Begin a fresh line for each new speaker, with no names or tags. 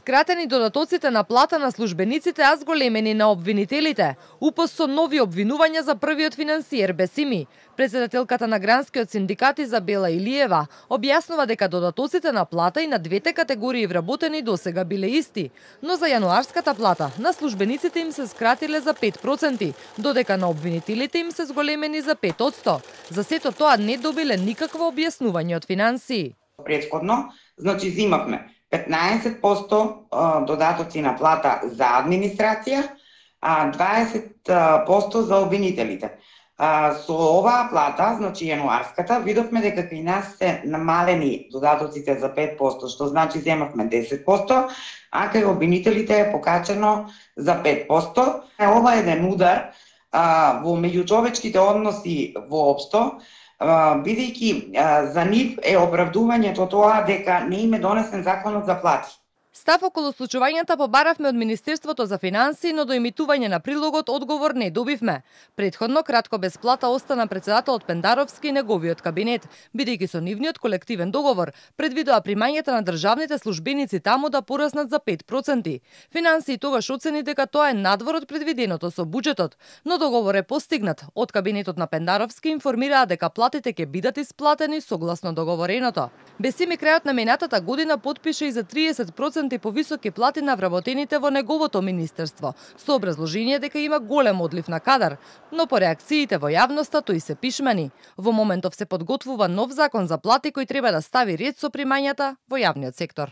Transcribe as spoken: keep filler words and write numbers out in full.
Скратени додатоците на плата на службениците, а зголемени на обвинителите. УПС со нови обвинувања за првиот финансиер Бесими. Председателката на гранскиот синдикат Изабела Илиева објаснува дека додатоците на плата и на двете категории вработени досега биле исти, но за јануарската плата на службениците им се скратиле за пет проценти, додека на обвинителите им се зголемени за пет одсто. За сето тоа не добиле никакво објаснување од финансии.
Претходно, значи зимавме петнаесет проценти додатоци на плата за администрација, а дваесет проценти за обвинителите. Со оваа плата, значи јануарската, видовме дека кај нас се намалени додатоците за пет проценти, што значи земавме десет проценти, а кај обвинителите е покачено за пет проценти. Ова е еден удар во меѓучовечките односи воопшто, бидејќи за нив е оправдувањето тоа дека не им е донесен законот за плати.
Став околу случувањата побаравме од Министерството за финансии, но до емитување на прилогот одговор не добивме. Предходно кратко без плата остана председателот Пендаровски и неговиот кабинет, бидејќи со нивниот колективен договор предвидува примањата на државните службеници таму да пораснат за пет проценти. Финансии тогаш оцени дека тоа е надвор од предвиденото со буџетот, но договор е постигнат. Од кабинетот на Пендаровски информираа дека платите ќе бидат исплатени согласно договореното. Бесими крајот на минатата година потпише и за триесет проценти повисоки плати на вработените во неговото министерство, со образложение дека има голем одлив на кадар, но по реакциите во јавноста тој се пишмани. Во моментов се подготвува нов закон за плати кој треба да стави ред со примањата во јавниот сектор.